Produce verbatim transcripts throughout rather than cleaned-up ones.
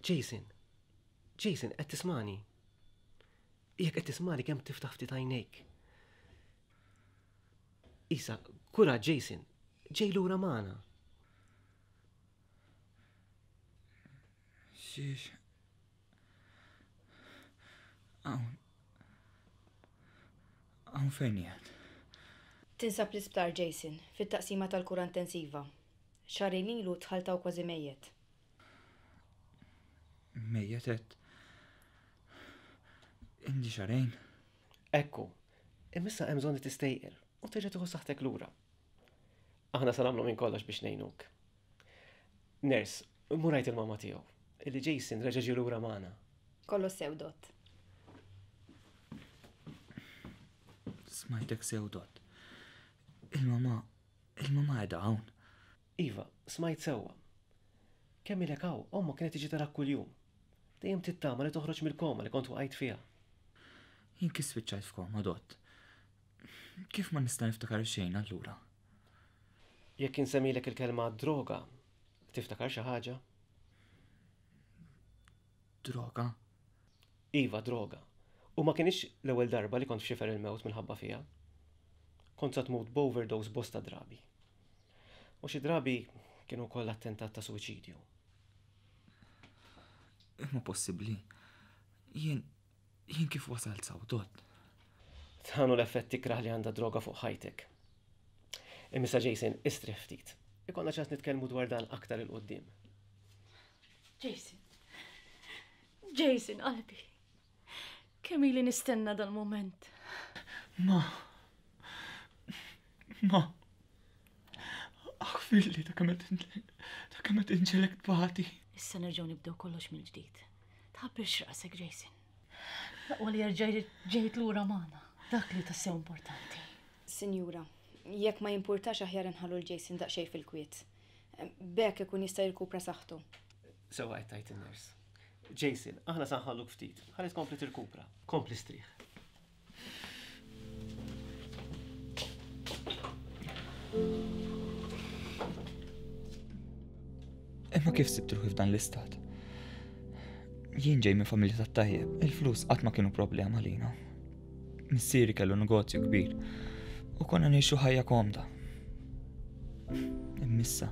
Jason, Jason, qed tismani? Jekk qed tismani kemm tiftaħ ftit għajnejk. Isa, kura Jason, ġej lura magħna. Xiex. Hawn. Hawn fejn qiegħed? Tinsab l-isptar Jason, fit-taqsima tal-kura intensiva. Xahrejn ilu dħalt hawn kważi mejjet. Mejjet qed. Indi xahrejn. Ekku, imma issa hemm bżonn li tistejqer u terġa' tieħu saħħtek lura. Aħna se nagħmlu minn kollox biex ngħinuk. Nurse, mur għid il-mama tiegħu, illi Jason reġa' ġie lura magħna. Kollox sew, Dott. Smajtek sew, Dott. Il-mama, il-mama qiegħda hawn. Iva, smajt sewwa. Kemm ilek hawn, ommok kienet tiġi tarak kuljum. Dejjem tittama li toħroġ mill-koma li kont waqajt fiha. Jien kif spiċċajt f'koma, Dott? Kif ma nista' niftakar xejn allura? Jekk insemmilek il-kelma droga, tiftakar xi ħaġa? Droga? Iva, droga. U ma kienx l-ewwel darba li kont f'xifer il-mewt minħabba fiha. Kont sa tmut b'overdose bosta drabi. U xi drabi kienu wkoll attentat ta' suwiċidju. Imma possibbli. Jien jien kif wasalt saw, Dott? Dan hu l-effett ikrah li għandha droga fuq ħajtek. Imma Jason, istrieħ ftit. Ikollna ċans nitkellmu dwar dan aktar il-qoddim. Jason. Jason, qalbi. Kemm ili nistenna dal-moment. Ma. Ma. Aħfirli ta' kemm qed ta' kemm qed inġegħlek tbati. Issa nerġgħu nibdew kollox mill-ġdid. Tħabbirx rasek, Jason. L-aqwa li jerġa' ġejt lura magħna. Dak li tassew importanti. Sinjura, jekk ma jimpurtax aħjar inħallu l-Jason daqsxejn fil-kwiet. B'hekk ikun jista' jirkupra saħħtu. Sewwa qed tgħid in-nurse. Jason, aħna sa nħalluk ftit. Ħalli tkompli tirkupra. Kompli strieħ. Imma kif sibt ruħi f'dan l-istat? Jien ġej minn familja tat-tajjeb, il-flus qatt ma kienu problema lina. Missieri kellu negozju kbir u konna ngħixu ħajja komda. Immissa,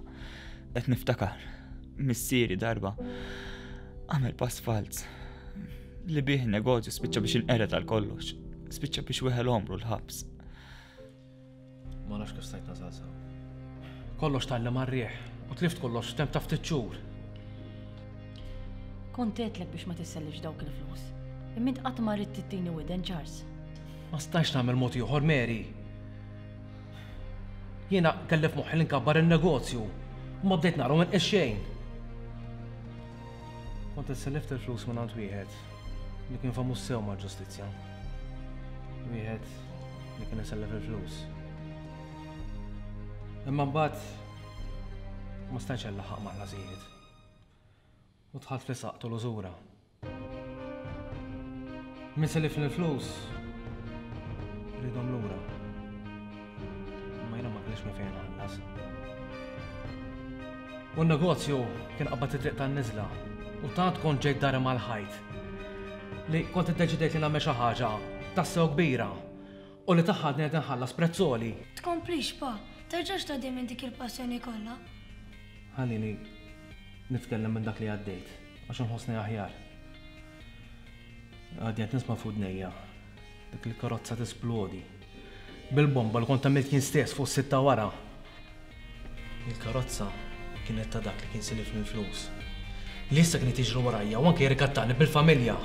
qed niftakar, missieri darba għamel pass falz li bih negozju spiċċa biex inqered għal kollox, spiċċa biex weħel omru l-ħabs. Ma nafx kif stajt nasal sew. Kollox tgħallem għar-riħ u tlift kollox f'temp ta' ftit xhur. Kont għedtlek biex ma tissellifx dawk il-flus. Imma int qatt ma ridt tittini widen, Charles. Ma stajtx nagħmel mod ieħor, Mary. Jiena kelli f'moħħi li nkabbar in-negozju u ma bdejt nara minn xejn. Kont issellift il-flus minn għand wieħed li kien famuż sew mal-ġustizzja. Wieħed li kien isellef il-flus. Imma mbagħad ma stajtx nlaħħaq ma' ħlasijiet. U dħalt fi saqtu l-użura. Min sellifni l-flus ridhom lura. Imma jiena ma kellix minn fejn nħallas. U n-negozju kien qabad it-triq tan-niżla u tant kont ġejt dari mal-ħajt li kont iddeċidejt li nagħmel xi ħaġa tassew kbira u li tagħha qed nħallas prezzoli. Tkomplix pa, terġax tgħaddi minn dik il-passjoni kollha. Ħallini nitkellem minn dak li għaddejt għax inħossni aħjar. Għadni qed nisma' f'udnejja dik il-karozza tisplodi bil-bomba li kont għamilt jien stess fuq sitta wara. Il-karozza kienet ta' dak li kien silifni l-flus. Li issa kien jiġru warajja u anke jirrikattani bil-familja.